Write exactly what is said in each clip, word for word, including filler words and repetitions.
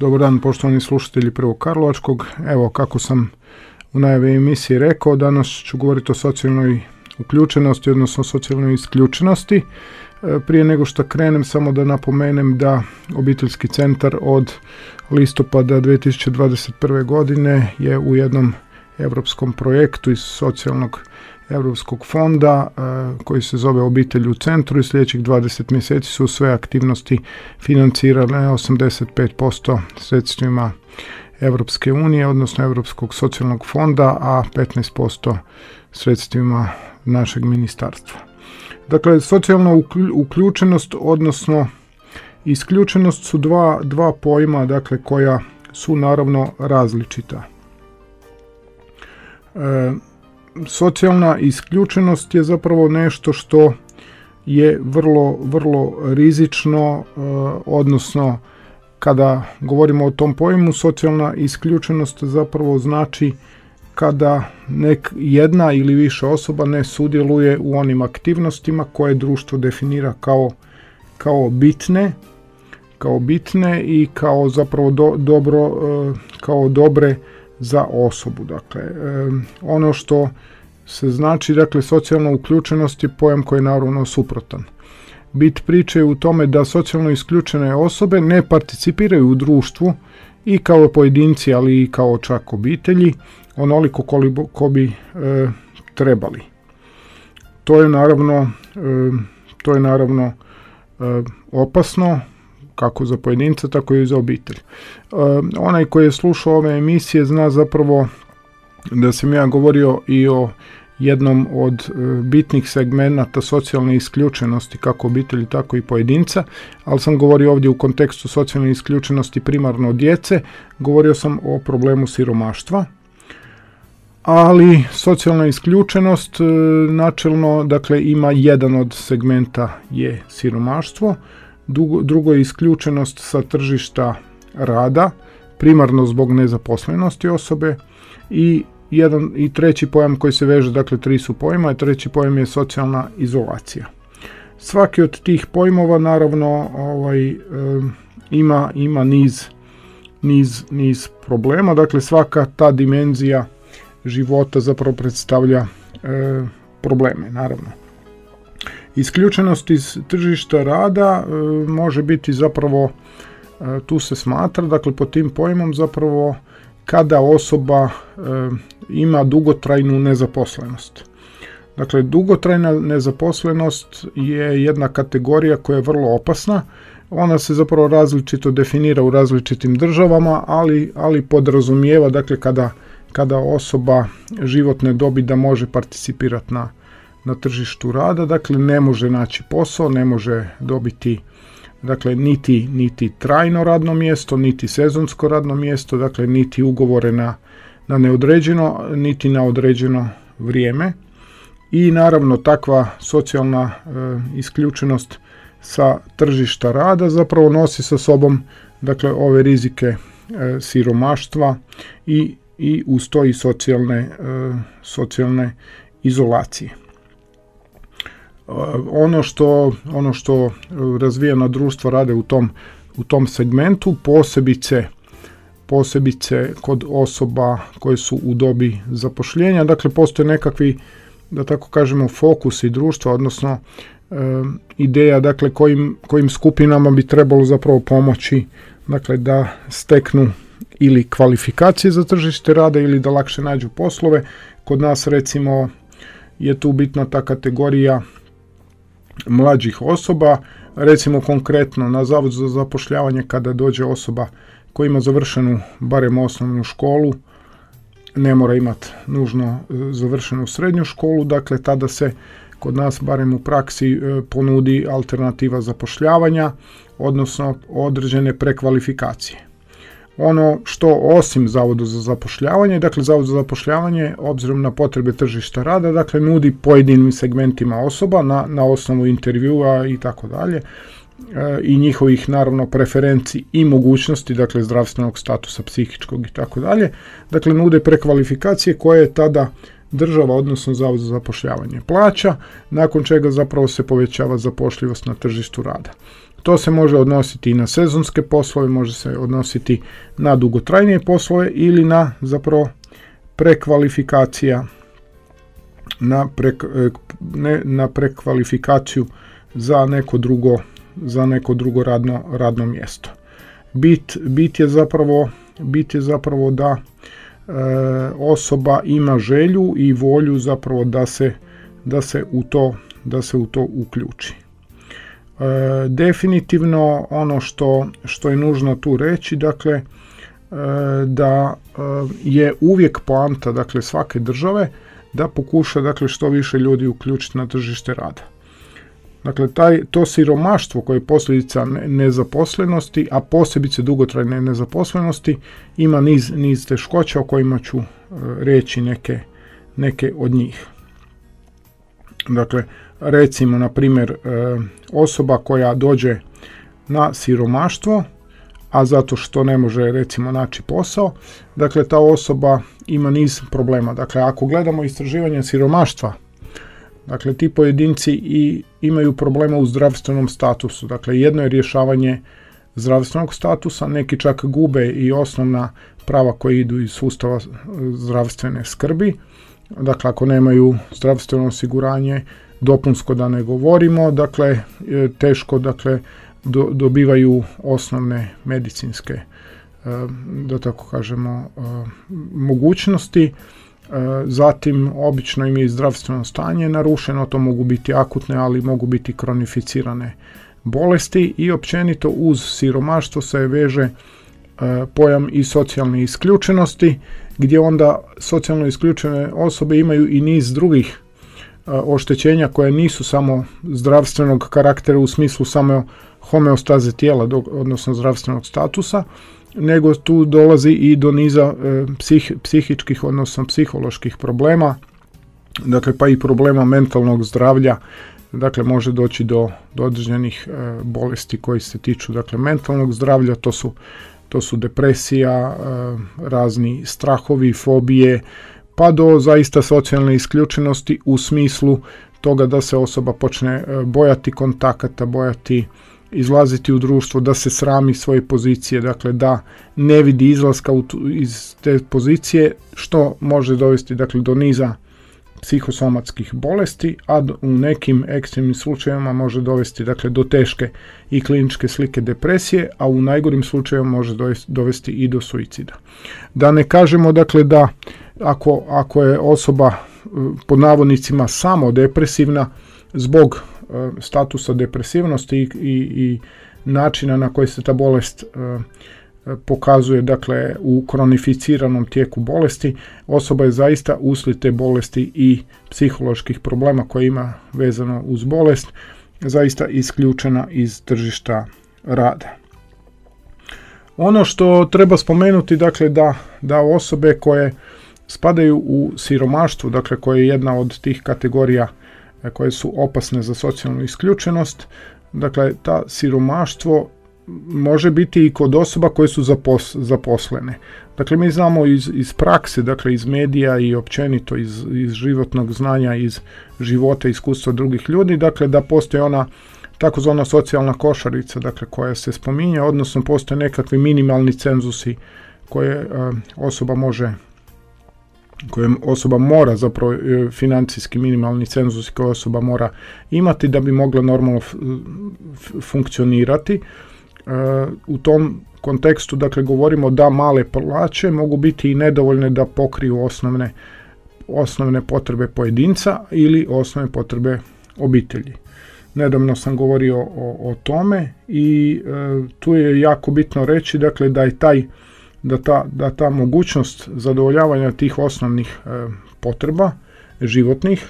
Dobar dan poštovani slušatelji Prvog Karlovačkog. Evo, kako sam u najavi emisiji rekao, danas ću govoriti o socijalnoj uključenosti, odnosno socijalnoj isključenosti. Prije nego što krenem, samo da napomenem da Obiteljski centar od listopada dvije tisuće dvadeset prve. godine je u jednom europskom projektu iz socijalnog Europskog fonda koji se zove Obitelj u centru i sljedećih dvadeset mjeseci su sve aktivnosti financirane osamdeset pet posto sredstvima Europske unije, odnosno Europskog socijalnog fonda, a petnaest posto sredstvima našeg ministarstva. Dakle, socijalna uključenost, odnosno isključenost su dva, dva pojma, dakle, koja su naravno različita. E, Socijalna isključenost je zapravo nešto što je vrlo, vrlo rizično, odnosno kada govorimo o tom pojmu, socijalna isključenost zapravo znači kada nek jedna ili više osoba ne sudjeluje u onim aktivnostima koje društvo definira kao, kao bitne, kao bitne i kao zapravo do, dobro, kao dobre za osobu. Dakle, ono što se znači, dakle, socijalna uključenost je pojam koji je naravno suprotan. Bit priče je u tome da socijalno isključene osobe ne participiraju u društvu i kao pojedinci, ali i kao čak obitelji, onoliko koliko bi e, trebali. To je naravno, e, to je naravno e, opasno, kako za pojedinca, tako i za obitelj. E, onaj koji je slušao ove emisije zna zapravo da sam ja govorio i o jednom od e, bitnih segmenata socijalne isključenosti, kako obitelji, tako i pojedinca, ali sam govorio ovdje u kontekstu socijalne isključenosti primarno djece, govorio sam o problemu siromaštva, ali socijalna isključenost e, načelno, dakle, ima jedan od segmenta je siromaštvo, drugo, drugo je isključenost sa tržišta rada, primarno zbog nezaposlenosti osobe, i jedan i treći pojam koji se veže, dakle tri su pojma, i treći pojam je socijalna izolacija. Svaki od tih pojmova naravno ovaj, e, ima, ima niz, niz, niz problema, dakle svaka ta dimenzija života zapravo predstavlja e, probleme, naravno. Isključenost iz tržišta rada e, može biti zapravo, e, tu se smatra, dakle pod tim pojmom zapravo kada osoba e, ima dugotrajnu nezaposlenost. Dakle, dugotrajna nezaposlenost je jedna kategorija koja je vrlo opasna. Ona se zapravo različito definira u različitim državama, ali, ali podrazumijeva, dakle, kada, kada osoba životne dobi da može participirati na, na tržištu rada, dakle, ne može naći posao, ne može dobiti, dakle, niti, niti trajno radno mjesto, niti sezonsko radno mjesto, dakle, niti ugovore na, na neodređeno, niti na određeno vrijeme. I naravno takva socijalna e, isključenost sa tržišta rada zapravo nosi sa sobom, dakle, ove rizike e, siromaštva i, i uz to i socijalne, e, socijalne izolacije. Ono što, ono što razvijena društva rade u tom, u tom segmentu, posebice, posebice kod osoba koje su u dobi zapošljenja, dakle postoje nekakvi, da tako kažemo, fokusi društva, odnosno e, ideja, dakle, kojim, kojim skupinama bi trebalo zapravo pomoći, dakle, da steknu ili kvalifikacije za tržište rada ili da lakše nađu poslove. Kod nas, recimo, je tu bitna ta kategorija mlađih osoba, recimo konkretno na Zavod za zapošljavanje kada dođe osoba koja ima završenu barem osnovnu školu, ne mora imati nužno završenu srednju školu, dakle tada se kod nas barem u praksi ponudi alternativa zapošljavanja, odnosno određene prekvalifikacije. Ono što osim Zavoda za zapošljavanje, dakle Zavod za zapošljavanje obzirom na potrebe tržišta rada, dakle nudi pojedinim segmentima osoba na, na osnovu intervjua i tako dalje i njihovih naravno preferenciji i mogućnosti, dakle zdravstvenog statusa, psihičkog i tako dalje, dakle nude prekvalifikacije koje je tada država, odnosno Zavod za zapošljavanje plaća, nakon čega zapravo se povećava zapošljivost na tržištu rada. To se može odnositi i na sezonske poslove, može se odnositi na dugotrajnije poslove ili na zapravo prekvalifikacija, na, pre, ne, na prekvalifikaciju za neko drugo, za neko drugo radno, radno mjesto. Bit, bit je zapravo, bit je zapravo da e, osoba ima želju i volju zapravo da se, da se u to, da se u to uključi. E, definitivno ono što, što je nužno tu reći, dakle, e, da e, je uvijek poanta, dakle, svake države da pokuša, dakle, što više ljudi uključiti na tržište rada. Dakle, taj, to siromaštvo koje je posljedica nezaposlenosti, a posebice dugotrajne nezaposlenosti, ima niz, niz teškoća o kojima ću e, reći neke, neke od njih. Dakle, recimo, na primjer, e, osoba koja dođe na siromaštvo, a zato što ne može, recimo, naći posao, dakle, ta osoba ima niz problema. Dakle, ako gledamo istraživanje siromaštva, dakle, ti pojedinci i imaju problema u zdravstvenom statusu. Dakle, jedno je rješavanje zdravstvenog statusa, neki čak gube i osnovna prava koja idu iz sustava zdravstvene skrbi. Dakle, ako nemaju zdravstveno osiguranje, dopunsko da ne govorimo, dakle, teško, dakle, do, dobivaju osnovne medicinske, da tako kažemo, mogućnosti. Zatim, obično im je zdravstveno stanje narušeno, to mogu biti akutne, ali mogu biti kronificirane bolesti i općenito uz siromaštvo se veže pojam i socijalne isključenosti, gdje onda socijalno isključene osobe imaju i niz drugih oštećenja koje nisu samo zdravstvenog karaktera u smislu samo homeostaze tijela, odnosno zdravstvenog statusa, nego tu dolazi i do niza e, psih, psihičkih, odnosno psiholoških problema, dakle, pa i problema mentalnog zdravlja. Dakle, može doći do, do određenih e, bolesti koji se tiču, dakle, mentalnog zdravlja, to su, to su depresija, e, razni strahovi, fobije, pa do zaista socijalne isključenosti u smislu toga da se osoba počne e, bojati kontakata, bojati izlaziti u društvo, da se srami svoje pozicije, dakle, da ne vidi izlaska u tu, iz te pozicije, što može dovesti, dakle, do niza psihosomatskih bolesti, a u nekim ekstremnim slučajevima može dovesti, dakle, do teške i kliničke slike depresije, a u najgorim slučajevima može dovesti i do suicida. Da ne kažemo, dakle, da ako, ako je osoba pod navodnicima samo depresivna zbog statusa depresivnosti i, i, i načina na koji se ta bolest e, pokazuje, dakle, u kronificiranom tijeku bolesti, osoba je zaista uslijed te bolesti i psiholoških problema koje ima vezano uz bolest zaista isključena iz tržišta rada. Ono što treba spomenuti, dakle, da, da osobe koje spadaju u siromaštvo, dakle, koje je jedna od tih kategorija koje su opasne za socijalnu isključenost, dakle, ta siromaštvo može biti i kod osoba koje su zapos, zaposlene. Dakle, mi znamo iz, iz prakse, dakle, iz medija i općenito iz, iz životnog znanja, iz života, iskustva drugih ljudi, dakle, da postoji ona takozvana socijalna košarica, dakle, koja se spominje, odnosno postoje nekakvi minimalni cenzusi koje uh, osoba može koje osoba mora, zapravo financijski minimalni cenzus koje osoba mora imati da bi mogla normalno funkcionirati. E, u tom kontekstu, dakle, govorimo da male plaće mogu biti i nedovoljne da pokriju osnovne, osnovne potrebe pojedinca ili osnovne potrebe obitelji. Nedavno sam govorio o, o tome i e, tu je jako bitno reći, dakle, da je taj Da ta, da ta mogućnost zadovoljavanja tih osnovnih e, potreba životnih,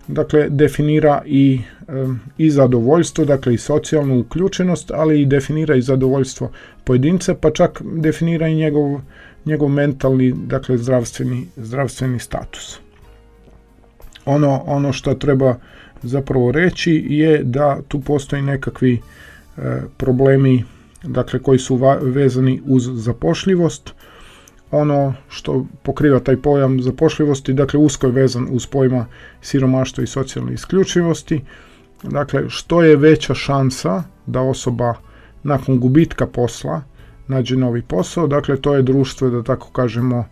dakle, definira i, e, i zadovoljstvo, dakle, i socijalnu uključenost, ali i definira i zadovoljstvo pojedinca, pa čak definira i njegov, njegov mentalni, dakle, zdravstveni, zdravstveni status. Ono, ono što treba zapravo reći je da tu postoji nekakvi e, problemi, dakle, koji su vezani uz zapošljivost. Ono što pokriva taj pojam zapošljivosti, dakle, usko je vezan uz pojma siromaštva i socijalne isključivosti. Dakle, što je veća šansa da osoba nakon gubitka posla nađe novi posao. Dakle, to je društvo, da tako kažemo,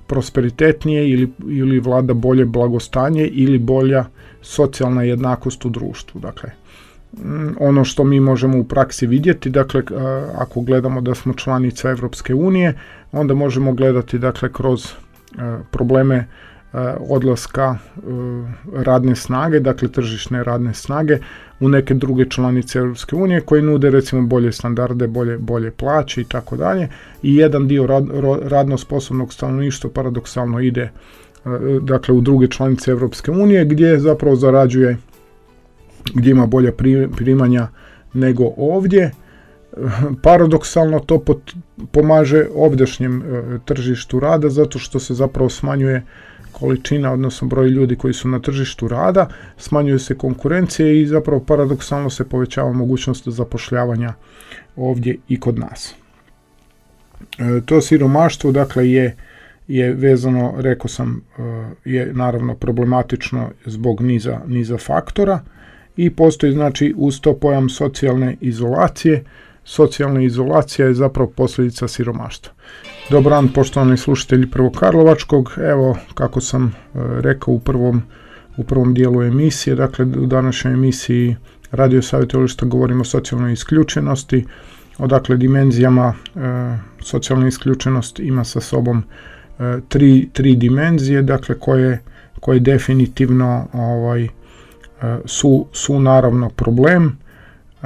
prosperitetnije ili, ili vlada bolje blagostanje ili bolja socijalna jednakost u društvu. Dakle, ono što mi možemo u praksi vidjeti, dakle, ako gledamo da smo članica Europske unije, onda možemo gledati, dakle, kroz probleme odlaska radne snage, dakle tržišne radne snage u neke druge članice Europske unije koje nude recimo bolje standarde, bolje, bolje plaće i tako dalje. I jedan dio rad, radno sposobnog stanovništva paradoksalno ide dakle u druge članice Europske unije gdje zapravo zarađuje, gdje ima bolja primanja nego ovdje. Paradoksalno to pot, pomaže ovdašnjem tržištu rada zato što se zapravo smanjuje količina, odnosno broj ljudi koji su na tržištu rada, smanjuje se konkurencije i zapravo paradoksalno se povećava mogućnost zapošljavanja ovdje i kod nas. E, to siromaštvo, dakle, je, je vezano, rekao sam, je naravno problematično zbog niza, niza faktora i postoji, znači, uz to pojam socijalne izolacije. Socijalna izolacija je zapravo posljedica siromaštva. Dobar dan, poštovani slušatelji Prvokarlovačkog. Evo, kako sam e, rekao u prvom, u prvom dijelu emisije, dakle u današnjoj emisiji Radio savjetovališta govorimo o socijalnoj isključenosti, odakle dimenzijama e, socijalna isključenost ima sa sobom e, tri, tri dimenzije, dakle koje, koje definitivno ovaj, e, su, su naravno problem. E,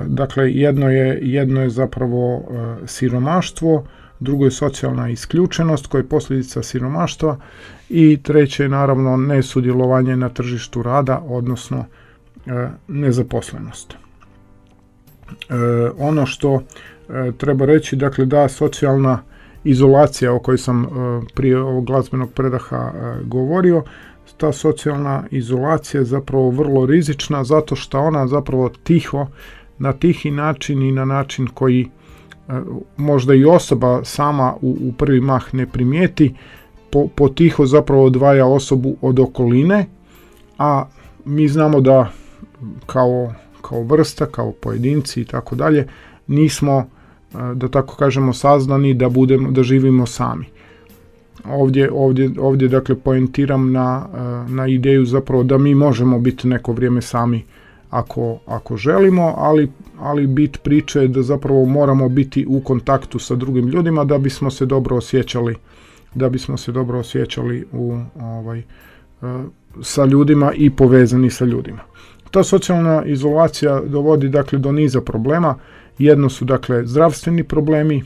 dakle, jedno je, jedno je zapravo e, siromaštvo, drugo je socijalna isključenost koja je posljedica siromaštva i treće je naravno nesudjelovanje na tržištu rada, odnosno e, nezaposlenost. E, ono što e, treba reći, dakle, da socijalna izolacija o kojoj sam e, prije ovog glazbenog predaha e, govorio, ta socijalna izolacija je zapravo vrlo rizična zato što ona zapravo tiho, na tihi način i na način koji možda i osoba sama u, u prvi mah ne primijeti, po, potiho zapravo odvaja osobu od okoline, a mi znamo da kao, kao vrsta, kao pojedinci i tako dalje, nismo, da tako kažemo, saznani da budemo, da živimo sami. Ovdje, ovdje, ovdje dakle poentiram na, na ideju zapravo da mi možemo biti neko vrijeme sami ako, ako želimo, ali, ali bit priče je da zapravo moramo biti u kontaktu sa drugim ljudima da bismo se dobro osjećali, da bismo se dobro osjećali u, ovaj, sa ljudima i povezani sa ljudima. Ta socijalna izolacija dovodi, dakle, do niza problema. Jedno su, dakle, zdravstveni problemi,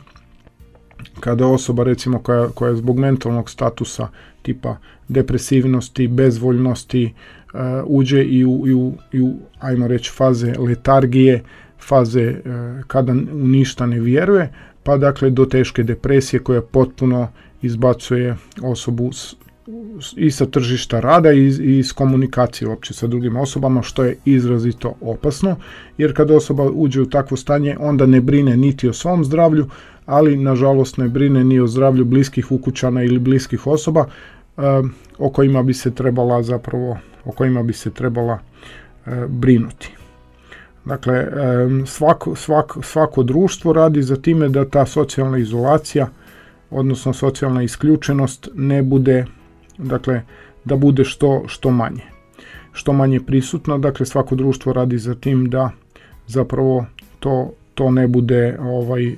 kada osoba, recimo, koja, koja je zbog mentalnog statusa tipa depresivnosti, bezvoljnosti, uh, uđe i u, i, u, i u, ajmo reći, faze letargije, faze uh, kada u ništa ne vjeruje, pa dakle do teške depresije koja potpuno izbacuje osobu s, i sa tržišta rada i iz, i iz komunikacije uopće sa drugim osobama, što je izrazito opasno, jer kada osoba uđe u takvo stanje, onda ne brine niti o svom zdravlju, ali nažalost ne brine ni o zdravlju bliskih ukućana ili bliskih osoba e, o kojima bi se trebala zapravo, o kojima bi se trebala e, brinuti. Dakle, e, svako, svako, svako društvo radi za time da ta socijalna izolacija, odnosno socijalna isključenost ne bude, dakle, da bude što, što manje. Što manje prisutno, dakle, svako društvo radi za tim da zapravo to, to ne bude, ovaj, e,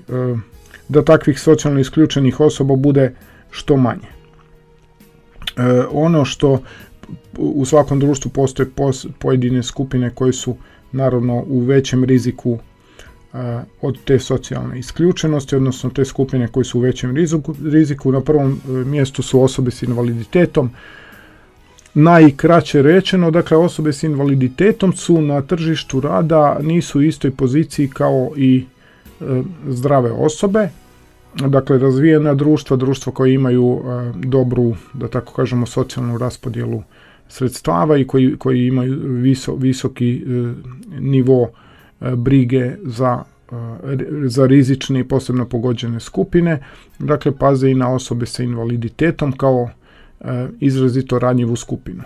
da takvih socijalno isključenih osoba bude što manje. E, ono što u svakom društvu postoje pos, pojedine skupine koje su naravno u većem riziku e, od te socijalne isključenosti, odnosno te skupine koje su u većem riziku. riziku. Na prvom mjestu su osobe s invaliditetom. Najkraće rečeno, dakle, osobe s invaliditetom su na tržištu rada, nisu u istoj poziciji kao i e, zdrave osobe. Dakle, razvijena društva, društva koje imaju e, dobru, da tako kažemo, socijalnu raspodjelu sredstava i koji, koji imaju viso, visoki e, nivo e, brige za, e, za rizične i posebno pogođene skupine. Dakle, paze i na osobe sa invaliditetom kao e, izrazito ranjivu skupinu.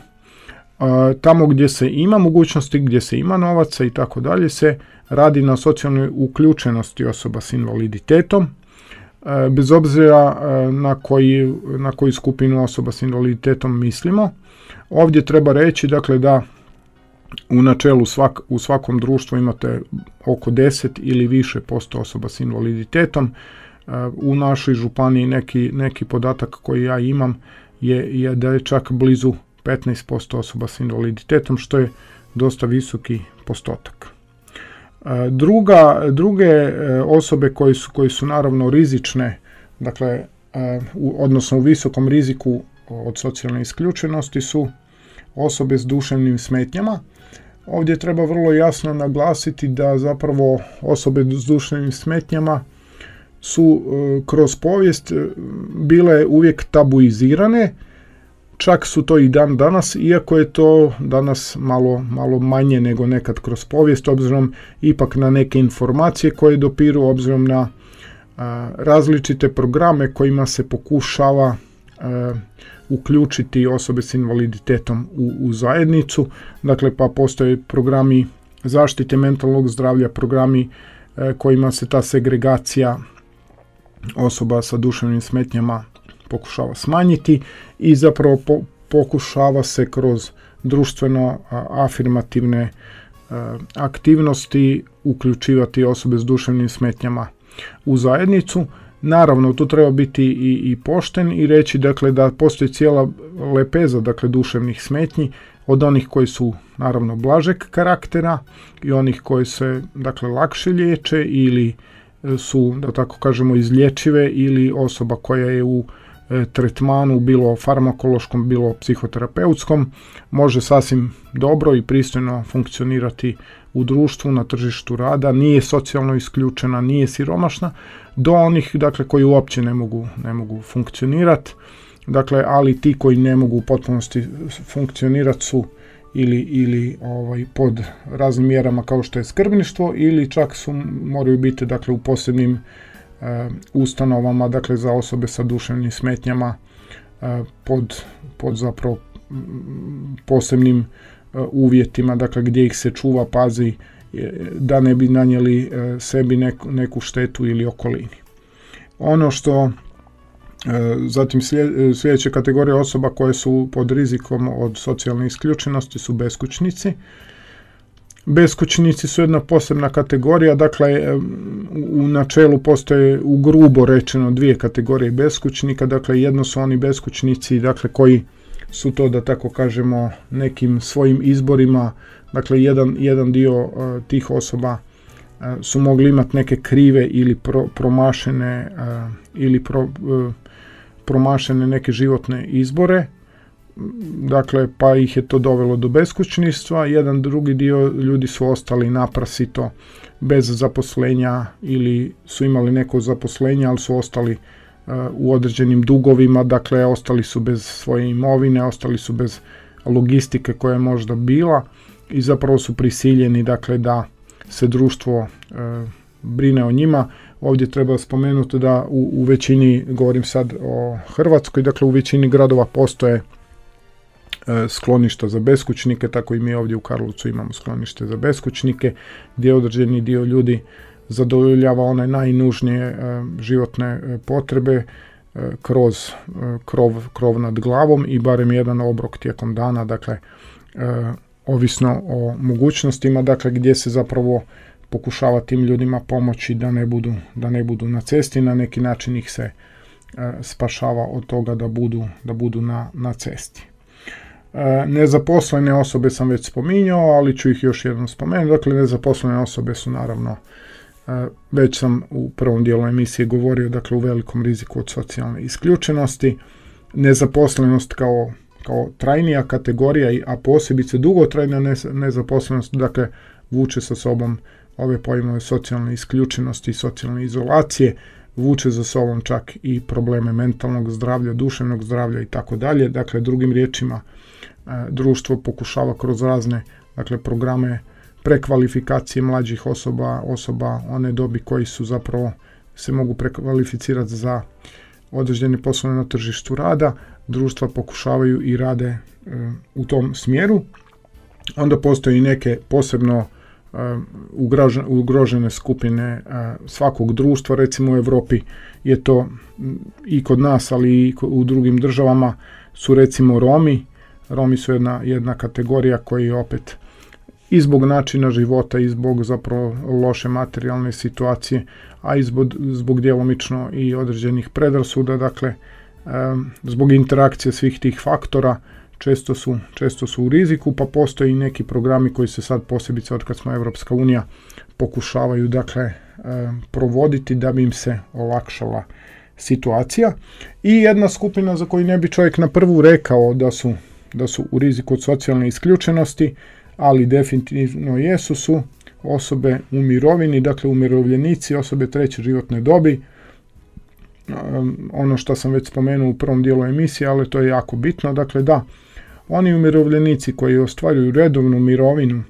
tamo gdje se ima mogućnosti, gdje se ima novaca i tako dalje, se radi na socijalnoj uključenosti osoba s invaliditetom, bez obzira na koji, na koju skupinu osoba s invaliditetom mislimo. Ovdje treba reći, dakle, da u načelu svak, u svakom društvu imate oko deset ili više posto osoba s invaliditetom. U našoj županiji neki, neki podatak koji ja imam je, je da je čak blizu petnaest posto osoba s invaliditetom, što je dosta visoki postotak. Druga, druge osobe koji su, koji su naravno rizične, dakle, u, odnosno u visokom riziku od socijalne isključenosti su osobe s duševnim smetnjama. Ovdje treba vrlo jasno naglasiti da zapravo osobe s duševnim smetnjama su kroz povijest bile uvijek tabuizirane, čak su to i dan danas, iako je to danas malo, malo manje nego nekad kroz povijest, obzirom ipak na neke informacije koje dopiru, obzirom na a, različite programe kojima se pokušava a, uključiti osobe s invaliditetom u, u zajednicu. Dakle, pa postoje programi zaštite mentalnog zdravlja, programi a, kojima se ta segregacija osoba sa duševnim smetnjama pokušava smanjiti i zapravo po, pokušava se kroz društveno a, afirmativne a, aktivnosti uključivati osobe s duševnim smetnjama u zajednicu. Naravno, tu treba biti i, i pošten i reći, dakle, da postoji cijela lepeza, dakle, duševnih smetnji, od onih koji su naravno blažeg karaktera i onih koji se, dakle, lakše liječe ili su, da tako kažemo, izlječive, ili osoba koja je u e, tretmanu, bilo farmakološkom, bilo psihoterapeutskom, može sasvim dobro i pristojno funkcionirati u društvu, na tržištu rada, nije socijalno isključena, nije siromašna, do onih, dakle, koji uopće ne mogu, ne mogu funkcionirati, dakle, ali ti koji ne mogu u potpunosti funkcionirati su ili, ili ovaj, pod raznim mjerama kao što je skrbništvo, ili čak su, moraju biti, dakle, u posebnim e, ustanovama, dakle, za osobe sa duševnim smetnjama e, pod, pod zapravo posebnim e, uvjetima, dakle, gdje ih se čuva, pazi, e, da ne bi nanijeli e, sebi neku, neku štetu ili okolini. Ono što Zatim sljedeća kategorija osoba koje su pod rizikom od socijalne isključenosti su beskućnici. Beskućnici su jedna posebna kategorija, dakle, u načelu postoje, u grubo rečeno, dvije kategorije beskućnika. Dakle, jedno su oni beskućnici, dakle, koji su to, da tako kažemo, nekim svojim izborima, dakle, jedan, jedan dio uh, tih osoba uh, su mogli imati neke krive ili pro, promašene uh, ili pro, uh, promašene neke životne izbore, dakle, pa ih je to dovelo do beskućništva. Jedan drugi dio ljudi su ostali naprasito bez zaposlenja ili su imali neko zaposlenje, ali su ostali uh, u određenim dugovima, dakle, ostali su bez svoje imovine, ostali su bez logistike koja je možda bila i zapravo su prisiljeni, dakle, da se društvo uh, brine o njima. Ovdje treba spomenuti da u, u većini, govorim sad o Hrvatskoj, dakle, u većini gradova postoje e, skloništa za beskućnike, tako i mi ovdje u Karlovcu imamo sklonište za beskućnike, gdje određeni dio ljudi zadovoljava one najnužnije e, životne e, potrebe e, kroz e, krov, krov nad glavom i barem jedan obrok tijekom dana, dakle, e, ovisno o mogućnostima, dakle, gdje se zapravo pokušava tim ljudima pomoći da ne budu, da ne budu na cesti, na neki način ih se e, spašava od toga da budu, da budu na, na cesti. E, nezaposlene osobe sam već spominjao, ali ću ih još jednom spomenuti. Dakle, nezaposlene osobe su naravno, e, već sam u prvom dijelu emisije govorio, dakle, u velikom riziku od socijalne isključenosti. Nezaposlenost kao, kao trajnija kategorija, a posebice dugotrajna nezaposlenost, dakle, vuče sa sobom ove pojmove socijalne isključenosti i socijalne izolacije, vuče za sobom čak i probleme mentalnog zdravlja, duševnog zdravlja i tako dalje. Dakle, drugim riječima, društvo pokušava kroz razne, dakle, programe prekvalifikacije mlađih osoba, osoba one dobi koji su zapravo se mogu prekvalificirati za određene poslove na tržištu rada, društva pokušavaju i rade e, u tom smjeru. Onda postoji neke posebno e, ugrožene, ugrožene skupine e, svakog društva, recimo u Europi je to i kod nas, ali i u drugim državama su recimo Romi. Romi su jedna, jedna kategorija koji opet i zbog načina života i zbog zapravo loše materijalne situacije, a i zbog, zbog djelomično i određenih predrasuda, dakle zbog interakcije svih tih faktora često su, često su u riziku, pa postoji i neki programi koji se sad posebice od kad smo Evropska unija pokušavaju dakle provoditi da bi im se olakšala situacija. I jedna skupina za koju ne bi čovjek na prvu rekao da su, da su u riziku od socijalne isključenosti, ali definitivno jesu, su osobe u mirovini, dakle umirovljenici, osobe treće životne dobi. Um, ono što sam već spomenuo u prvom dijelu emisije, ali to je jako bitno, dakle da, oni umirovljenici koji ostvaruju redovnu mirovinu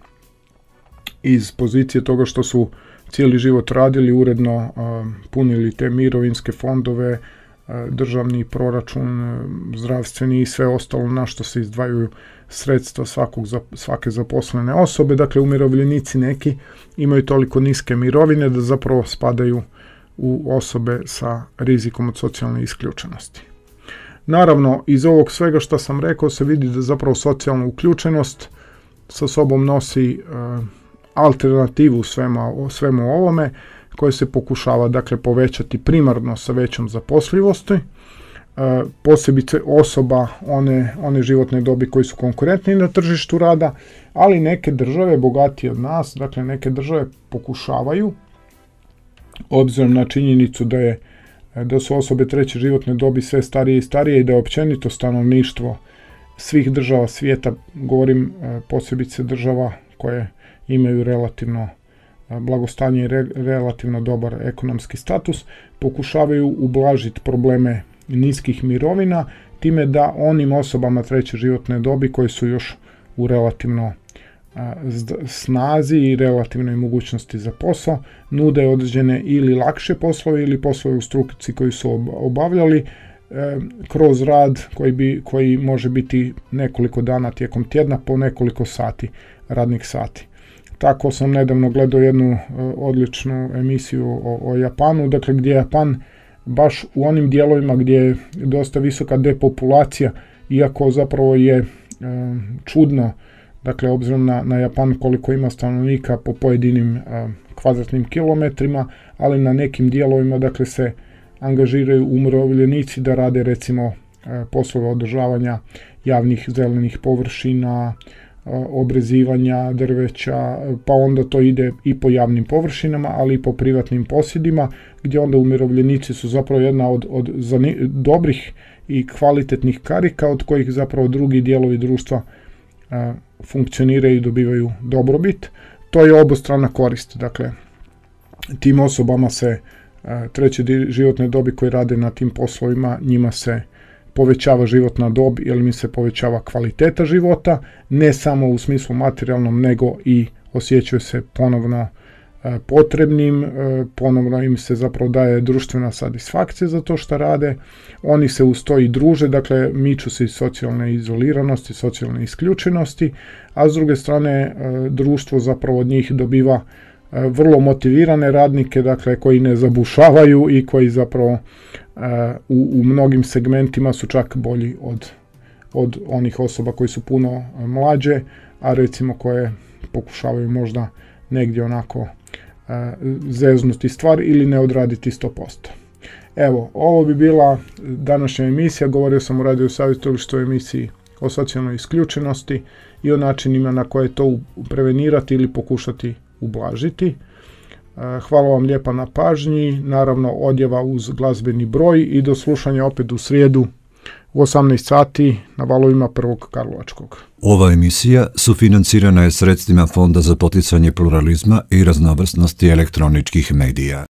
iz pozicije toga što su cijeli život radili, uredno um, punili te mirovinske fondove, uh, državni proračun, uh, zdravstveni i sve ostalo na što se izdvajaju sredstva svakog, svake zaposlene osobe, dakle umirovljenici neki imaju toliko niske mirovine da zapravo spadaju u osobe sa rizikom od socijalne isključenosti. Naravno, iz ovog svega što sam rekao se vidi da zapravo socijalna uključenost sa sobom nosi e, alternativu svema, svemu ovome, koje se pokušava dakle povećati primarno sa većom zaposljivosti, e, posebice osoba one, one životne dobi koji su konkurentni na tržištu rada, ali neke države bogatije od nas, dakle neke države pokušavaju, obzirom na činjenicu da je da su osobe treće životne dobi sve starije i starije i da je općenito stanovništvo svih država svijeta, govorim posebice država koje imaju relativno blagostanje i re, relativno dobar ekonomski status, pokušavaju ublažiti probleme niskih mirovina time da onim osobama treće životne dobi koji su još u relativno snazi i relativnoj mogućnosti za posao, nude određene ili lakše poslove ili poslove u struci koji su obavljali e, kroz rad koji, bi, koji može biti nekoliko dana tijekom tjedna po nekoliko sati, radnih sati. Tako sam nedavno gledao jednu e, odličnu emisiju o, o Japanu, dakle gdje Japan baš u onim dijelovima gdje je dosta visoka depopulacija, iako zapravo je e, čudno, dakle, obzirom na, na Japan koliko ima stanovnika po pojedinim uh, kvadratnim kilometrima, ali na nekim dijelovima, dakle, se angažiraju umirovljenici da rade, recimo, uh, poslove održavanja javnih zelenih površina, uh, obrezivanja drveća, pa onda to ide i po javnim površinama, ali i po privatnim posjedima, gdje onda umirovljenici su zapravo jedna od, od zani- dobrih i kvalitetnih karika, od kojih zapravo drugi dijelovi društva uh, funkcioniraju i dobivaju dobrobit. To je obostrana korist. Dakle, tim osobama se treće životne dobi koji rade na tim poslovima, njima se povećava životna dob jer mi se povećava kvaliteta života, ne samo u smislu materijalnom, nego i osjećaju se ponovno potrebnim, ponovno im se zapravo daje društvena satisfakcija za to što rade, oni se uz to i druže, dakle miču se iz socijalne izoliranosti, socijalne isključenosti, a s druge strane društvo zapravo od njih dobiva vrlo motivirane radnike, dakle koji ne zabušavaju i koji zapravo u, u mnogim segmentima su čak bolji od, od onih osoba koji su puno mlađe, a recimo koje pokušavaju možda negdje onako zeznuti stvar ili ne odraditi sto posto. Evo, ovo bi bila današnja emisija. Govorio sam u Radio savjetovalištu o emisiji o socijalnoj isključenosti i o načinima na koje to prevenirati ili pokušati ublažiti. Hvala vam lijepa na pažnji, naravno odjava uz glazbeni broj i do slušanja opet u srijedu u osamnaest sati na valovima Prvog Karlovačkog. Ova emisija sufinancirana je sredstvima Fonda za poticanje pluralizma i raznovrsnosti elektroničkih medija.